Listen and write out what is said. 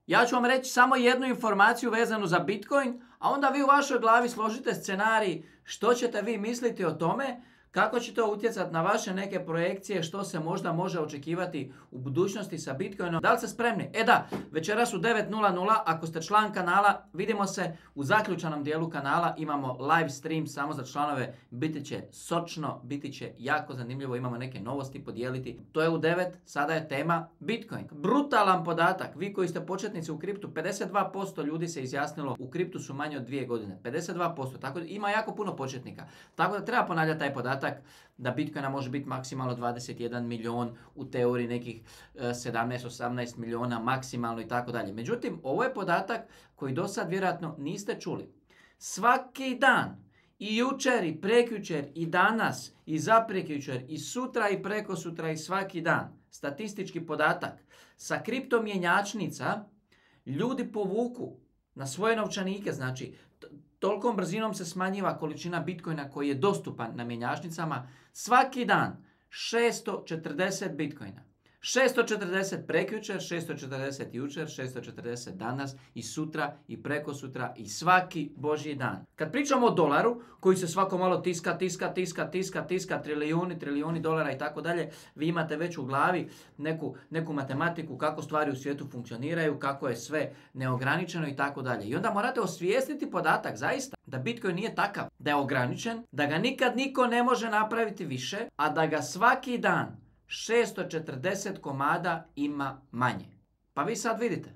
Ja ću vam reći samo jednu informaciju vezanu za Bitcoin, a onda vi u vašoj glavi složite scenarij što ćete vi misliti o tome, kako će to utjecati na vaše neke projekcije, što se možda može očekivati u budućnosti sa Bitcoinom. Da li ste spremni? Da, večeras u 9:00, ako ste član kanala, vidimo se u zaključanom dijelu kanala, imamo live stream samo za članove, biti će sočno, biti će jako zanimljivo, imamo neke novosti podijeliti. To je u 9, sada je tema Bitcoin. Brutalan podatak, vi koji ste početnici u kriptu, 52% ljudi se izjasnilo u kriptu su manje od 2 godine. 52%, tako da ima jako puno početnika. Tako da treba ponavljati taj podatak da Bitcoina može biti maksimalno 21 milion, u teoriji nekih 17-18 miliona maksimalno i tako dalje. Međutim, ovo je podatak koji do sad vjerojatno niste čuli. Svaki dan, i jučer, i prekjučer, i danas, i zaprekjučer, i sutra, i prekosutra, i svaki dan, statistički podatak, sa kriptomjenjačnica ljudi povuku na svoje novčanike, znači tolikom brzinom se smanjiva količina Bitcoina koji je dostupan na mjenjačnicama. Svaki dan 640 Bitcoina. 640 prekjučer, 640 jučer, 640 danas i sutra i prekosutra i svaki božji dan. Kad pričamo o dolaru koji se svako malo tiska, trilijuni dolara i tako dalje, vi imate već u glavi neku matematiku kako stvari u svijetu funkcioniraju, kako je sve neograničeno i tako dalje. I onda morate osvijestiti podatak zaista da Bitcoin nije takav, da je ograničen, da ga nikad niko ne može napraviti više, a da ga svaki dan 640 komada ima manje. Pa vi sad vidite.